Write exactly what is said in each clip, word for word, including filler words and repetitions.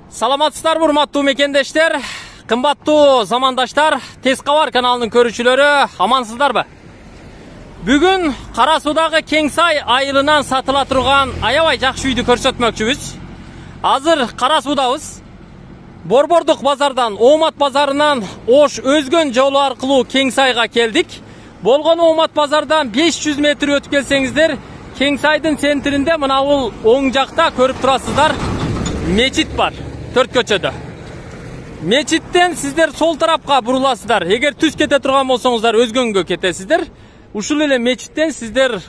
Саламатсыздарбы, урматтуу мекендештер, кымбаттуу замандаштар, Тез кабар каналынын көрүүчүлөрү, амансыздарбы? Бүгүн Кара Суудагы Кеңсай айылынан сатыла турган аябай жакшы үйдү көрсөтмөкчүбүз. Азыр Кара Суудабыз. Борбордук базардан, Оомат базарынан Ош өзгөн жолу аркылуу Кеңсайга келдик. Болгону Оомат базардан беш жүз метр өтүп келсеңиздер, Кеңсайдын центринде мына бул оң жакта көрүп турасыздар, мечит бар. Төрт көчөдө. Мечиттен сиздер сол тарапка буруласыздар. Эгер түз кете турган болсоңуздар, өзгөнгө кетесиздер. Ушул эле мечиттен сиздер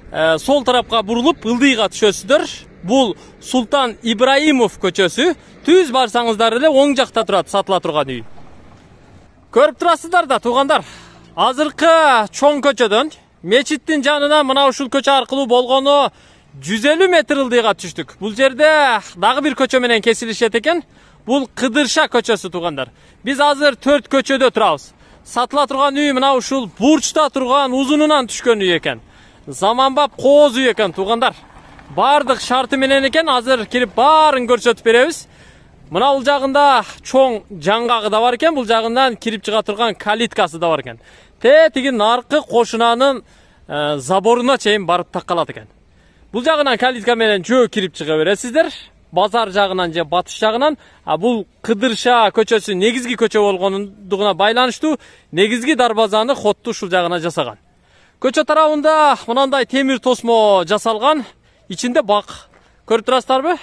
э, сол тарапка бурулуп, ылдыйга түшөсүздөр. Бул Султан Ибраимов көчөсү. Түз барсаңыздар эле оң жакта турат сатыла турган үй. Көрүп турасыздар да, туугандар. Азыркы чоң көчөдөн мечиттин жанына мына ушул көчө аркылуу болгону жүз элүү метр ылдыйга түштүк. Бул жерде дагы бир көчө менен кесилишет экен. Бул Кыдырша көчөсү, туугандар. Биз азыр төрт көчөдө турабыз. Сатыла турган үй мына ушул бурчта турган узунунан түшкөн үй экен. Заманбап кооз үй экен, туугандар. Бардык шарты менен экен. Азыр кирип баарын көрсөтүп беребиз. Мына бул жагында чоң жаңгагы да бар экен. Бул жагынан кирип чыга турган калиткасы да бар экен. Те тиги наркы кошунанын э, заборуна чейин барып таккалат экен. Бул жагынан калитка менен жөө кирип чыга бересиздер. Базар жагынан же батыш жагынан. А бул Кыдырша көчөсү негизги көчө болгондугуна байланыштуу негизги дарбазаны хотту ушул жагына жасаган. Көчө тарабында мынандай темир тосмо жасалган. Ичинде бак. Көрүп турасыздарбы?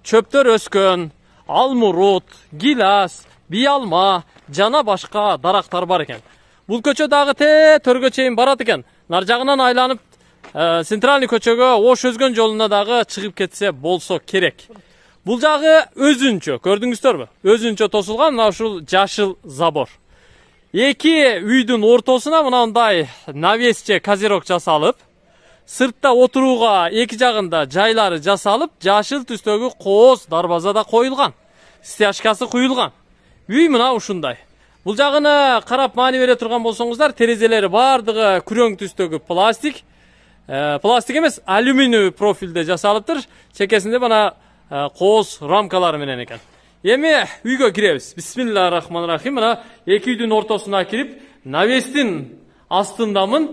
Чөптөр өскөн, алмурут, гилас, биялма жана башка дарактар бар экен. Бул көчө дагы те төргө чейин барат экен. Нар жагынан айланып Э, центральный көчөгө Ош өзгөн жолуна дагы чыгып кетсе болсо керек. Бул жагы өзүнчө, көрдүңүздөрбү? Өзүнчө тосулган мына ушул жашыл забор. Эки үйдүн ортосуна мындай навес же козерок жасалып, сыртта отурууга эки жагында жайлары жасалып, жашыл түстөгү кооз дарбаза да коюлган. Стяжкасы куюлган. Үй мына ушундай. Бул жагыны карап маани бере турган болсоңуздар, терезелери бардыгы күрөң түстөгү пластик. Э, пластик эмес, алюминий профилде жасалыптыр. Чекесинде мына э, кооз рамкалары менен экен. Эми үйгө киребиз. Бисмиллахиррахманиррахим. Мына эки үйдүн ортосуна кирип, навестин астындамын.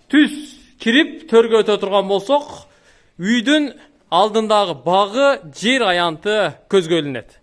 Түз кирип төргө өтө турган болсок, үйдүн алдындагы багы, жер аянты көзгө илинет.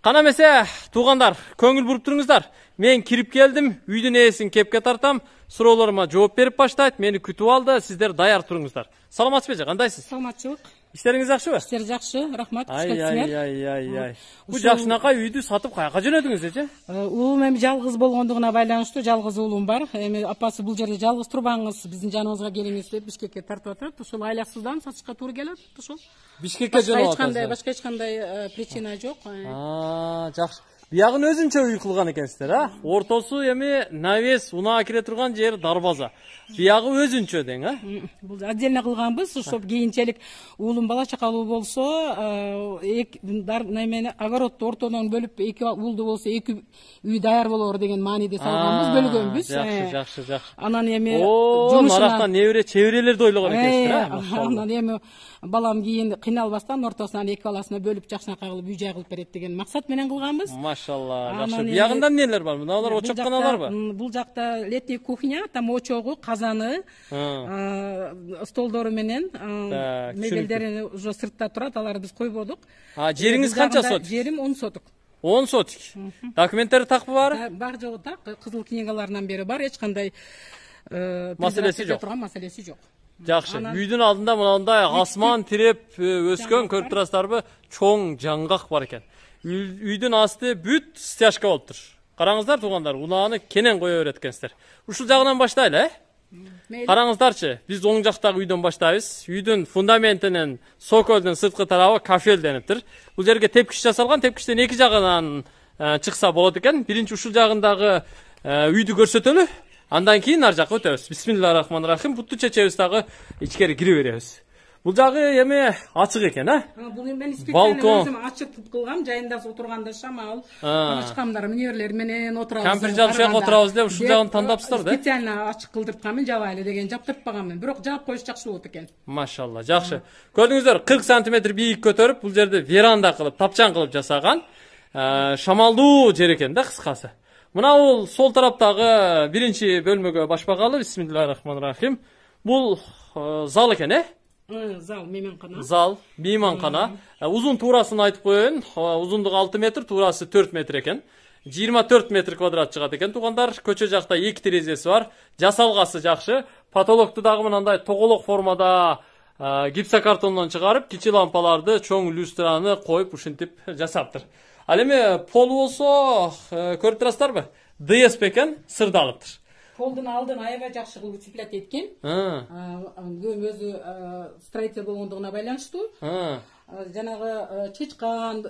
Кана эмесе, туугандар, көңүл буруп туруңуздар. Мен кирип келдим, үйдүн ээсин кепке тартам. Суроолорума жооп берип баштайт. Мени күтүп алды. Сиздер даяр туруңуздар. Саламатсызбы, кандайсыз? Саламатчылык. Иштериңиз жакшыбы? Иштер жакшы, рахмат. Ай, ай, ай, ай, ай. Бу жакшынакай үйдү сатып каяка жөнөдүңүз эже? Уулум эми жалгыз болгондугуна байланыштуу, жалгыз уулум бар. Эми апасы бул жерде жалгыз турбаңыз, биздин жаныбызга келиңиз деп Бишкекке тартып атат. Ушул айлаксыздан сатышка туура келет, ушул. Бишкекке жөнөп атасыз. Башка эч кандай причина жок. Аа, жакшы. Биягын өзүнчө үй кылган экенсиздер, а? Ортосу эми навес, унаа кире турган жер дарбаза. Биягы өзүнчө дең, а? Бул отдельно кылганбыз, ошо кийинчелик уулум бала чакалуу болсо, эки немени огородду ортодон бөлүп, эки уулду болсо эки үй даяр болор деген мааниде салганбыз, бөлгөнбүз. Жакшы, жакшы, жакшы. Анан эми жумушуна нарактан небере чеберелерди ойлогон экенсиздер, а? Анан эми балам кийин кыйналбастан ортосунан эки баласына бөлүп жакшынакай кылып үй жай кылып берет деген максат менен кылганбыз. Машалла, жакшы. Биягында эмнелер бар? Мыналар очокканаларбы? Бул жакта летний кухня, там очогу, казаны, столдору менен, мебелдери уже сыртта турат, аларды биз койбодук. А жериңиз канча сотик? Жерим он сотик. он сотик. Документтери такпы баары? Бар жогу так, кызыл книгаларынан бери бар, эч кандай маселеси жок. Маселеси жок. Жакшы. Үйдүн алдында мындай асман тиреп өскөн, көрүп турасыздарбы? Чоң жаңгак бар экен. Үйдүн асты бүт стяжка болуптур. Караңыздар, туугандар, унааны кенен кое берет экенсиздер. Ушул жагынан баштайлы, э? Караңыздарчы, биз оң жактагы үйдөн баштайбыз. Үйдүн фундаментинин сокөлдүн сырткы тарабы кафел дениптир. Бул жерге тепкич жасалган, тепкичтен эки жагынан чыкса болот экен. Биринчи ушул жагындагы үйдү көрсөтөлү. Андан кийин ар жакка өтөбүз. Бисмиллахиррахманиррахим. Бутту чечебиз дагы ичкери кире беребиз. Бул жагы эми ачык экен, а? Бул мен специально өзүм ачык кылгам, жайында отурганда шамал, ачкамдар, мүнөрлөр менен отурабыз. Кампир жапшак отурабыз деп ушул жагын тандапсыздар да? Специально ачык кылдыртканмын, жабайлы деген жаптыртпаганмын. Бирок жаап коюш жакшы болот экен. Машалла, жакшы. Көрдүңүздөр, кырк сантиметр бийик көтөрүп, бул жерде веранда кылып, тапчан кылып жасаган. Шамалдуу жер экен да, кыскасы. Мына бул сол тараптагы биринчи бөлмөгө башпагалы. Бисмиллахиррахманиррахим. Бул зал экен, э? Зал, мейманкана. Зал, мейманкана. Узун туурасын айтып коеюн. Узундугу алты метр, туурасы төрт метр экен. жыйырма төрт метр квадрат чыгат экен. Туугандар, көчө жакта эки терезеси бар. Жасалгасы жакшы. Потолокту дагы мындай тоголок формада гипсокартондон чыгарып, кичи лампаларды, чоң люстраны коюп ушинтип жасаптыр. Ал эми пол болсо, көрүп турасыздарбы? ди эс экен, сырдалыптыр. Полдун алдын аябай жакшы кылып утеплять эткен. Өзү строитель болгондугуна байланыштуу. Жанагы чычкан,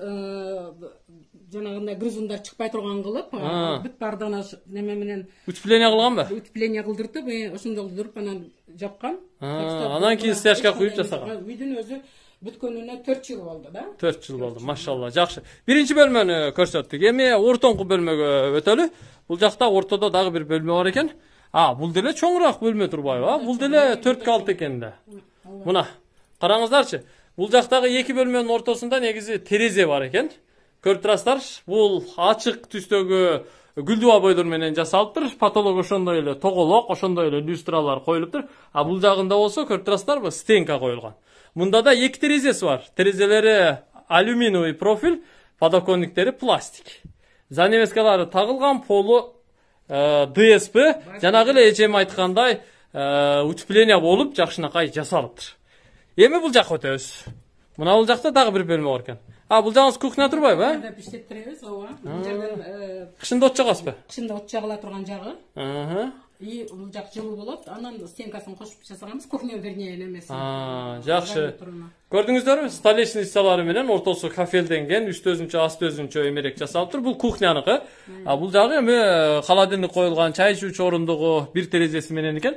жанагындай грызундар чыкпай турган кылып, бүт бардыгына неме менен утепление кылганбы? Утепление кылдыртып, ошондой кылдырып анан жапкан. Анан кийин стяжка куюп жасаган. Үйдүн өзү бүткөнүнө төрт жыл болду да. төрт жыл болду, машалла, жакшы. Биринчи бөлмөнү көрсөттүк. Эми ортоңку бөлмөгө өтөлү. Бул жакта ортодо дагы бир бөлмө бар экен. А, бул деле чоңураак бөлмө турбайбы? А, бул деле төрткө алты экен да. Мына, караңыздарчы. Бул жактагы эки бөлмөнүн ортосунда негизи терезе бар экен. Көрүп турасыздар, бул ачык түстөгү гүлдүү обойлор менен жасалыптыр. Потолок ошондой эле тоголок, ошондой эле люстралар коюлуптур. А бул жагында болсо көрүп турасыздарбы, стенка коюлган. Мында да эки терезеси бар. Терезелери алюминиевый профиль, подоконниктери пластик. Занавескалары тагылган, полу ди эс пи, жанагы эле эчем айткандай, утепление болуп, жакшынакай жасалыптыр. Эми бул жакка өтөбүз. Мына бул жакта дагы бир бөлмө бар экен. А, бул жагыңыз кухня турбайбы, а? Биштетиребиз, ооба. Бул жерден кышында от жагасызбы? Кышында от жагыла турган жагы. Ага. И бул жак жылуу болот. Анан стенкасын кошуп жасаганбыз, кухня вернее немеси. А, жакшы. Көрдүңүздөрбү? Столешницалары менен ортосу кафелденген, үстү өзүнчө, асты өзүнчө эмерек жасалыптыр. Бул кухняныкы. А бул жагы эми холодильник коюлган, чай ичүүчү орундугу, бир терезеси менен экен.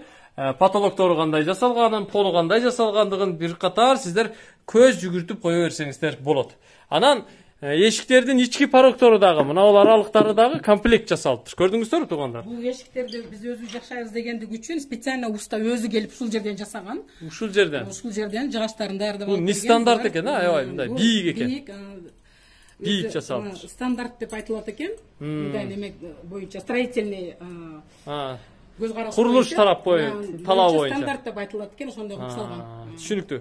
Потолоктору кандай жасалганын, полу кандай жасалгандыгын бир катар сиздер көз жүгүртүп кое берсеңиздер болот. Анан эшиктердин ички порогтору дагы, мына бул аралыктары дагы комплект жасалыптыр. Көрдүңүздөрбү, туугандар? Бул эшиктерди биз өзүбүз жашайбыз дегендиги үчүн специально уста өзү келип ушул жерден жасаган. Ушул жерден. Ушул жерден жыгачтарын даярдап алып. Бул не стандарт экен, а? Аябай мындай бийик экен. Бийик. Бийик жасалыптыр. Стандарт деп айтылат экен. Мындай неме боюнча строительный көз караш. Курулуш тарап боюнча, талап боюнча. Стандарт деп айтылат экен, ошондой кылып салган. Түшүнүктүү.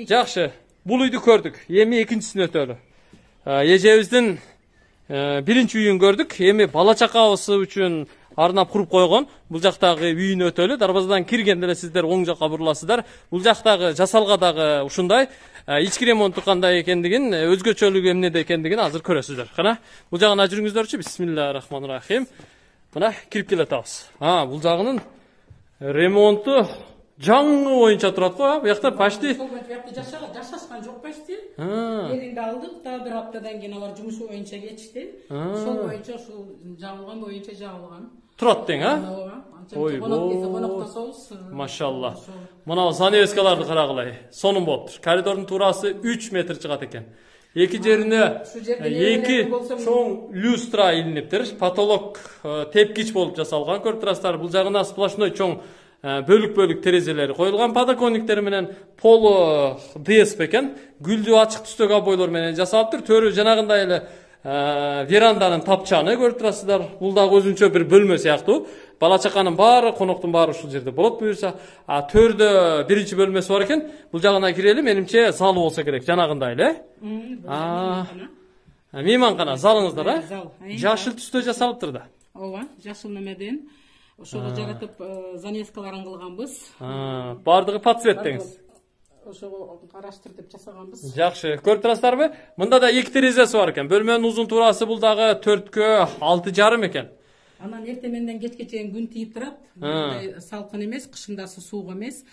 Жакшы. Бул үйдү көрдүк. Эми экинчисине өтөлү. Эжебиздин биринчи үйүн көрдүк. Эми бала чакабыз үчүн арнап куруп койгон. Бул жактагы үйүнө өтөлү. Дарбазадан киргенде эле сиздер оң жакка буруласыздар. Бул жактагы жасалга дагы ушундай. Ички ремонтту кандай экендигин, өзгөчөлүгү эмнеде экендигин азыр көрөсүздөр. Кана, бул жагына жүрүңүздөрчү. Бисмиллахиррахманиррахим. Мына кирип келатабыз. А, бул жагынын ремонту жаңы боюнча турат го, а? Буякта почти жашашкан жок почти. Элинде алдык, дагы бир аптадан кийин алар жумушу боюнча кетишти. Ошол боюнча ушул жабылган боюнча жабылган. Турат тең, а? Ой, машалла. Мына занавескаларды карагылай. Сонун болуптур. Коридордун туурасы үч метр чыгат экен. Эки жерине эки чоң люстра илиниптир. Потолок тепкич болуп жасалган. Көрүп турасыздар, бул жагына сплошной чоң бөлүк-бөлүк терезелери коюлган, подоконниктери менен полу ди эс экен. Гүлдүү ачык түстөгү обойлор менен жасалыптыр. Төрү жанагындай эле веранданын тапчаны, көрүп турасыздар. Бул дагы өзүнчө бир бөлмө сыяктуу. Бала чаканын баары, коноктун баары ушул жерде болот буюрса. А төрдө биринчи бөлмөсү бар экен. Бул жагына кирели, менимче залы болсо керек, жанагындай эле. А, мейманкана, залыңыздар, а? Жашыл түстө жасалыптыр да. Ооба, жашыл немеден. Ошого жаратып занавескаларын кылганбыз. Бардыгы под цвет деңиз. Ошого караштырып жасаганбыз. Жакшы. Көрүп турасыздарбы? Мында да эки терезеси бар экен. Бөлмөнүн узун туурасы бул дагы төрткө алты жарым экен. Анан эртеменден кечке чейин күн тийип турат. Мындай салкын эмес, кышындасы суук эмес.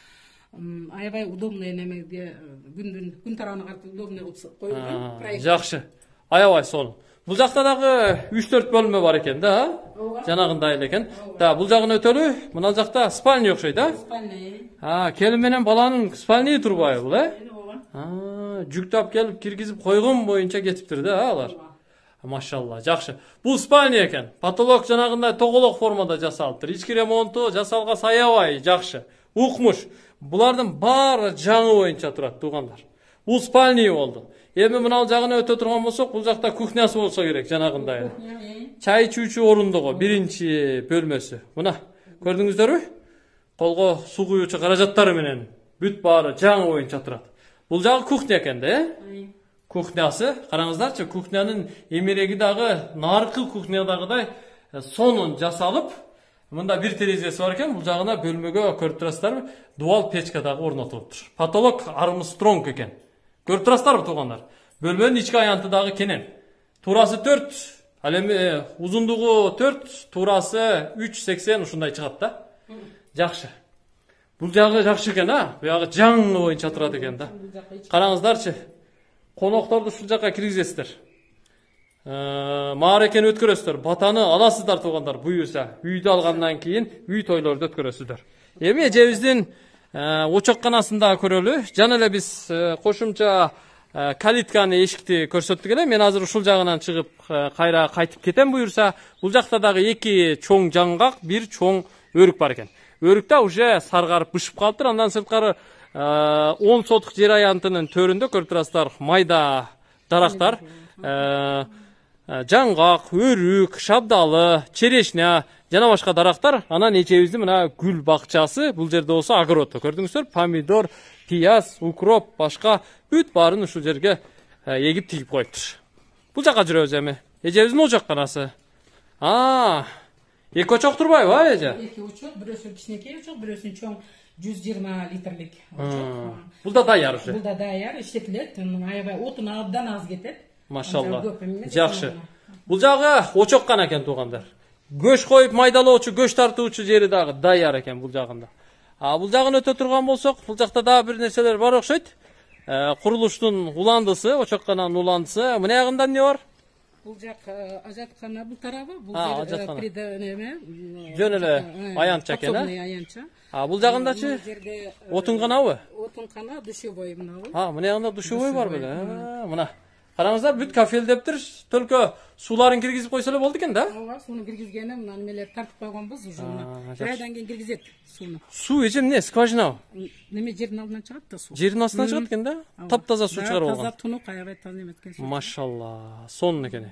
Аябай удобный немеге күндүн күн тарабына карап удобный кылып коюлган. Жакшы. Аябай сонун. Бул жакта дагы үч төрт бөлмө бар экен да. Жанагындай эле экен. Да, бул жагын өтөлү. Мына жакта спальня окшойт да? Спальня. А, келин менен баланын спальня турбайбы бул, э? А, жүктөп келип киргизип койгон боюнча кетиптир да алар. Машалла, жакшы. Бул спальня экен. Потолок жанагындай тоголок формада жасалыптыр. Ички ремонту жасалган аябай жакшы. Укмуш. Булардын баары жаңы боюнча турат, туугандар. Бул спальня болду. Эми мына жагына өтө турган болсок, бул жакта кухнясы болсо керек, жанагындай. Чай ичүүчү орундугу биринчи бөлмөсү. Мына, көрдүңүздөрбү? Колго суу куюучу каражаттары менен бүт баары жаңы боюнча турат. Бул жагы кухня экен да, э? Кухнясы, караңыздарчы, кухнянын эмереги дагы наркы кухнядагыдай сонун жасалып, мында бир терезеси бар экен, бул жагына бөлмөгө көрүп турасыздарбы? Дуал печка дагы орнотулуптур. Потолок Армстронг экен. Көрүп турасыздарбы, туугандар? Бөлмөнүн ички аянты дагы кенен. Туурасы төрт, ал эми узундугу төрт, туурасы үч сексен ушундай чыгат да. Жакшы. Бул жагы жакшы экен, а? Буягы жаңы боюнча турат экен да. Караңыздарчы. Конокторду ушул жакка киргизесиздер. Маарекени өткөрөсүздөр, батаны аласыздар туугандар, буюрса. Үйдү алгандан кийин үй тойлорду өткөрөсүздөр. Эми эжебиздин очокканасында көрөлү. Жана эле биз кошумча калитканы, эшикти көрсөттүк эле. Мен азыр ушул жагынан чыгып кайра кайтып кетем буюрса. Бул жакта дагы эки чоң жаңгак, бир чоң өрүк бар экен. Өрүктө уже саргарып бышып калыптыр. Андан сырткары он сотук жер аянтынын төрүндө көрүп турасыздар майда дарактар, жаңгак, өрүк, шабдалы, черешня жана башка дарактар. Анан эчебиздин мына гүл бакчасы, бул жерде болсо огородто көрдүңүздөр, помидор, пияз, укроп, башка бүт баарын ушул жерге эгип тигип коюптур. Бул жака жүрөбүз эми. Эжебиздин очокканасы. А, эки очок турбайбы, а эже? Эки очок, бирөөсү кичинекей очок, бирөөсү чоң жүз жыйырма литрлик очок. Бул да даяр уже. Бул да даяр, иштетилет. Аябай отун абдан аз кетет. Машалла. Жакшы. Бул жагы очоккана экен туугандар. Көш коюп майдалоочу, көш тартуучу жери дагы даяр экен бул жагында. А бул жагын өтө турган болсок, бул жакта дагы бир нерселер бар окшойт. Курулуштун уландысы, очоккананын уландысы. Мына ягында эмне бар? Бул жак ажаткана, бул тарабы, бул жер приденеме. Жөн эле аянтча экен, а? А бул жагындачы отунканабы? Отункана, душевой мынабы. А, мына ягында душевой бар беле. Мына. Караңыздар, бүт кафелдептир, только сууларын киргизип койсо эле болду экен да? Ооба, сууну киргизгени, мына немелер тартып койгонбуз уже мына. Бир айдан кийин киргизет сууну. Суу эже эмне, скважинабы? Неме жердин алдынан чыгат да суу. Жердин астынан чыгат экен да? Таптаза суу чыгарып алган. Таза, тунук, аябай таза эметкен суу. Машалла, сонун экен.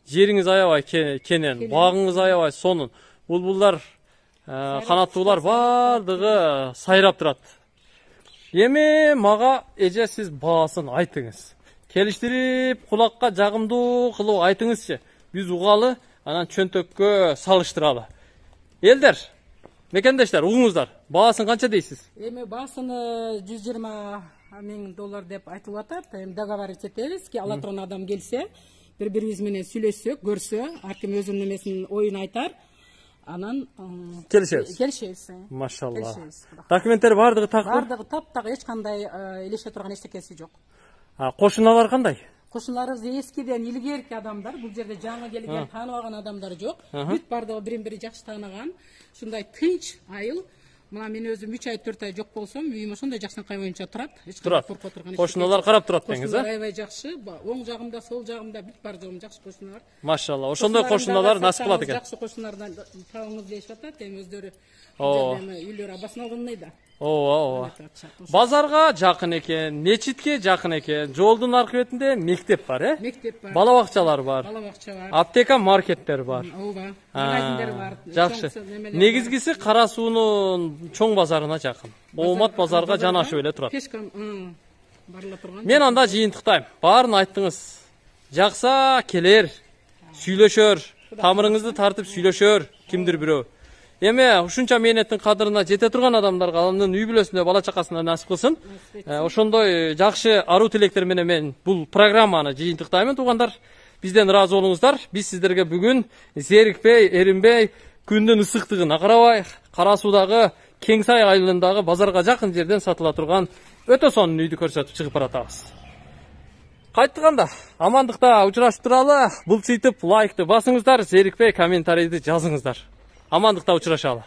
Жериңиз аябай кенен, багыңыз аябай сонун. Булбулдар, канаттуулар бардыгы сайрап турат. Эми мага эже сиз баасын айтыңыз. Келиштирип, кулакка жагымдуу кылып айтыңызчы. Биз угалы, анан чөнтөккө салыштыралы. Элдер, мекендештер, угуңуздар, баасын канча дейсиз? Эми баасыны жүз жыйырма миң доллар деп айтылып атат. Эми договорить этебиз ки ала турган адам келсе, бири-бирибиз менен сүйлөшсөк, көрсө, ар ким өзүнүн немесин, оюн айтар. Анан келишебиз. Келишебиз. Машалла. Документтер бардыгы тактыр? Бардыгы таптагы, эч кандай элеше турган эчтекеси жок. А кошуналар кандай? Кошуналарыбыз эскиден илгерки адамдар, бул жерде жаңы келген, тааныбаган адамдар жок. Бүт бардыгы бирин-бири жакшы тааныган. Ушундай тынч айыл. Мына мен өзүм үч ай, төрт ай жок болсом, үйүм ошондой жакшынакай боюнча турат. Эч кандай коркуп турган. Кошуналар карап турат деңиз, а? Аябай жакшы. Оң жагымда, сол жагымда бүт бар жогум жакшы кошуналар. Машалла, ошондой кошуналар насип кылат экен. Жакшы кошуналардан табыңыз дейишип атат, эми өздөрү үйлөрү абасын алгандай да. Ооба, ооба. Базарга жакын экен, мечитке жакын экен, жолдун аркы бетинде мектеп бар, э? Мектеп бар. Бала бакчалар бар. Бала бакча бар. Аптека, маркеттер бар. Ооба. Магазиндер бар. Жакшы. Негизгиси Кара суунун чоң базарына жакын. Оомат базарга жанашып эле турат. Пешком барыла турган. Мен анда жыйынтыктайм. Баарын айттыңыз. Жакса келер, сүйлөшөр, тамырыңызды тартып сүйлөшөр кимдир бирөө. Эми ушунча мээнеттин кадырына жете турган адамдарга анын үй бүлөсүндө бала чакасына насип кылсын. Ошондой жакшы аруу тилектер менен мен бул программаны жыйынтыктаймын туугандар. Бизден ыраазы болуңуздар. Биз сиздерге бүгүн зерикпей, эринбей, күндүн ысыктыгына карабай, Кара суудагы Кеңсай айылындагы базарга жакын жерден сатыла турган өтө сонун үйдү көрсөтүп чыгып баратабыз. Кайтканда амандыкта учурашып туралы. Булчуйтуп лайкты басыңыздар, зерикпей комментарийди жазыңыздар. Амандыкта учурашалы.